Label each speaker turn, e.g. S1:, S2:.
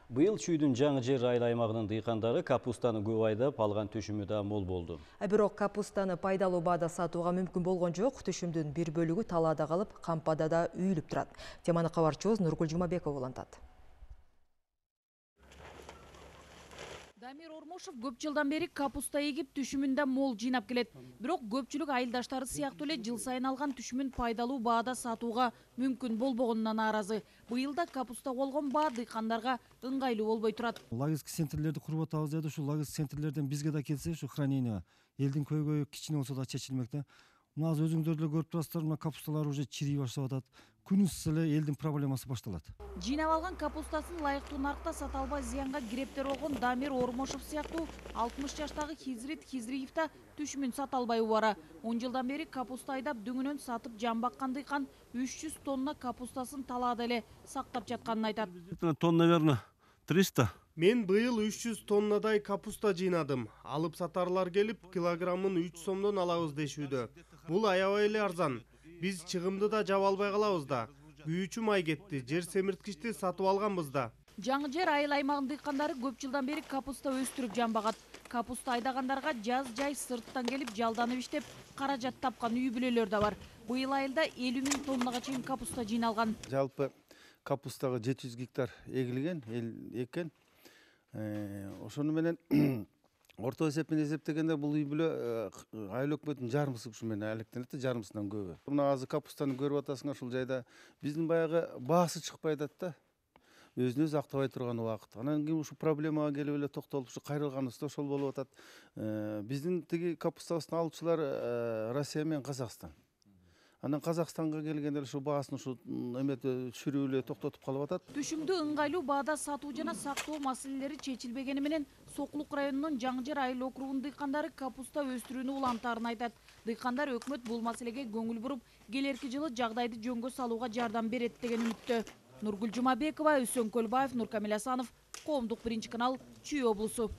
S1: Быйыл Чүйдүн жаңы жер айыл аймагынын дыйкандары капустаны көп айдап алган түшүмү да мол болду.
S2: Бирок капустаны пайдалуу баада сатууга мүмкүн болгон жок. Түшүмдүн бир бөлүгү талаада калып, кампада да үйүлүп турат. Теманы кабарчыбыз Нургул Жумабеков улантат.
S3: Дамир Ормошов көп жылдан бери капуста эгип түшүмүндө мол жыйнап келет. Бирок көпчүлүк айылдаштары сыяктуу эле жыл сайын алган түшүмүн пайдалуу баада сатууга мүмкүн болбогонуна нааразы. Быйыл да капуста болгон баа дыйкандарга ыңгайлуу болбой турат.
S4: Логистик центрлерди куруп атабыз деди. Ушу логистик центрлерден бизге да келсе, ушу хранение элдин көйгөйү кичине болсо да чечилмек да. Мына азыр өзүңүздөр деле көрүп турасыздар, мына капусталар уже чирий баштап атат. Күн ыссы эле элдин проблемасы башталат.
S3: Жыйнап алган капустасын лайыктуу наркта сата албай зыянга кирептер болгон Дамир Ормошов сыяктуу 60 жаштагы Хизрит Хизриев да түшүмүн сата албай убара. 10 жылдан бери капуста айдап дөңүнөн сатып жан баккан дыйкан 300 тонна капустасын талаада эле сактап жатканын айтат.
S5: Тонна, наверное, 300.
S6: Мен быйыл 300 тоннадай капуста жыйнадым. Алып сатарлар келип, килограммын 3 сомдон алабыз дешүүдө. Бул аябай эле арзан. Биз чыгымды да жаба албай калабыз да. Күйүүчү май кетти, жер семирткичти сатып алганбыз да.
S3: Жаңы жер айыл аймагынын дыйкандары көп жылдан бери капуста өстүрүп жан багат. Капуста айдагандарга жаз жай сырттан келип жалданып иштеп, каражат тапкан үй бүлөлөр да бар. Быйыл айылда 50 000 тоннага чейин капуста жыйналган.
S7: Жалпы капустага 700 гектар эгилген экен. Ошону менен орто эсеп менен эсептегенде бул үй бүлө айыл өкмөтүнүн жарымысы ушу менен алектенет, жарымысынан көбү. Мына азыр капустаны көрүп атасыңар, ушул жайда биздин баягы баасы чыкпай атат да. Өзүн өзү актабай турган убакыт. Анан кийин ушу проблемага келип эле токтолуп, ушу кайрылганыбызда ошол болуп атат. Биздин тиги капустабыздын алуучулар Россия менен Казакстан. Анан Казакстанга келгенде ушу баасын ушу эмети түшүрүп эле токтотуп калып атат.
S3: Түшүмдү ыңгайлуу баада сатуу жана сактоо маселелери чечилбегени менен Сокулук районунун Жаңы жер айыл округунун дыйкандары капуста өстүрүүнү улантаарын айтат. Дыйкандар өкмөт бул маселеге көңүл буруп, келерки жылы жагдайды жөнгө салууга жардам берет деген үмүттө. Нургул Жумабекова, Үсөн Көлбаев, Нуркамил Асанов, Коомдук биринчи канал, Чүй облусу.